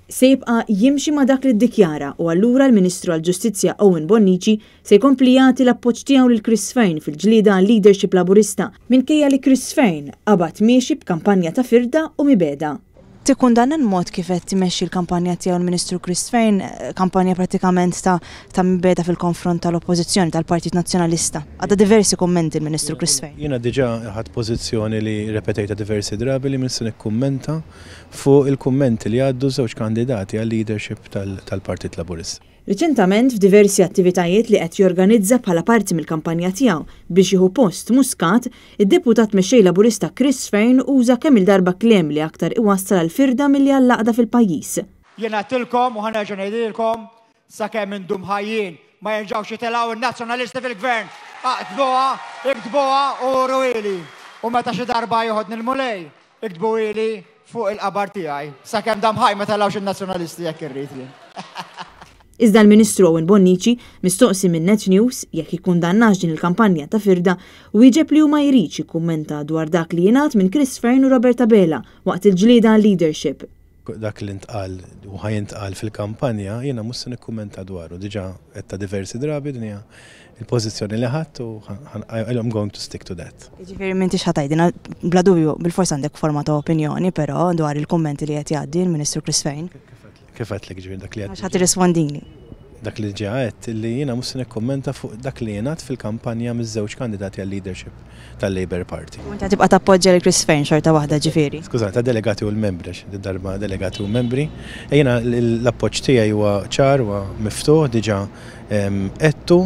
Se jibqa' jimxi ma' dak li ddikjara u allura l-Ministru għall-Ġustizzja Owen Bonnici se jkompli jagħti l-appoġġ tiegħu lil Chris Fearne fil-ġlieda għal-leadership Laburista minkejja li Chris Fearne qabad miexi b'kampanja ta' firda u mibegħda. Tikkundanna l-mod kif qed imexxi l-kampanja tiegħu l-Ministru Chris Fearne, kampanja prattikament ta' ta' mibegħda fil-konfront tal-Oppożizzjoni, tal-Partit Nazzjonalista. Għadda diversi kummenti l-Ministru Chris Fearne. Jiena diġà ħadt pożizzjoni li rrepetejtha diversi drabi li m'iniex se nikkummenta fuq il-kummenti li għaddu żewġ kandidati għal-leadership tal-Partit Laburista. Riċentament f'diversi attivitajiet li qed jorganizza bħala parti mill-kampanja tiegħu biex jieħu post Muscat, id-Deputat Mexxej Laburista Chris Fearne uża kemm-il darba kliem li aktar iwassal għall-firda milli għall-għaqda fil-pajjiż. Jien għedtilkom u ħa nerġa' ngħidilkom, sakemm indum ħajjin ma jerġgħux jitilgħu n-Nazzjonalisti fil-Gvern. Aqtbuha, iktbuha u uruhieli. U meta xi darba joħodni l-Mulej, Iktbuhieli fuq il-qabar tiegħi. Sakemm dam ħaj ma telgħux in-Nazzjonalisti jekk irrid jien. Iżda l-Ministru Owen Bonnici, mistoqsi minn Net News jekk jikkundannax din il-kampanja ta' firda, wieġeb li hu ma jridx jikkummenta dwar dak li jingħad minn Chris Fearne u Robert Abela waqt il-ġlieda għal-leadership. Dak li ntqal u ħa jintqal fil-kampanja jiena mhux se nikkummenta dwaru. Diġà għedtha diversi drabi din hija l-pożizzjoni li ħadt u I'm going to stick to that. Jiġifieri m'intix ħa tgħidilna, bla dubju, bilfors għandek forma ta' opinjoni però dwar il-kummenti li qed jgħaddi l-Ministru Chris Fearne. Kif għedtlek jiġifieri dak li għedt. Mhux ħa tirrispondini. Dak li ġa għedt li jiena mhux se nikkummenta fuq dak li jingħad fil-kampanja miż-żewġ kandidati għal-leadership tal-Labour Party. U inti ħa tibqa' tappoġġja lil Chris Fearne xorta waħda ġifieri? Skużani, tad-delegati u l-membri għax did-darba delegati u membri. Jiena l-appoġġ tiegħi huwa ċar, huwa miftuħ, diġà għedtu.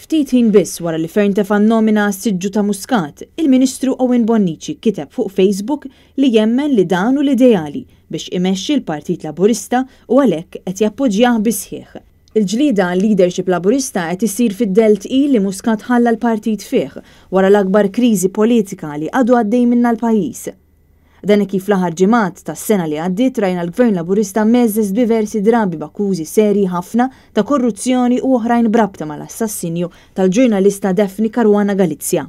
Ftit ħin biss wara li Fearne tefa' n-nomina għas-siġġu ta' Muscat, il-Ministru Owen Bonnici kiteb fuq Facebook li jemmen li dan hu l-ideali biex imexxi l-Partit Laburista u għalhekk qed jappoġġjah bis-sħiħ. Il-ġlieda għal-leadership Laburista qed issir fid-dell tqil li Muscat ħalla l-partit fih wara l-akbar kriżi politika li għadu għaddej minnha l-pajjiż. Dan hekk kif fl-aħħar ġimgħat tas-sena li għaddiet rajna l-Gvern Laburista mgħeżżeż diversi drabi b'akkużi serji ħafna ta' korruzzjoni u oħrajn b'rabta mal-assassinju tal-ġurnalista Daphne Caruana Galizia.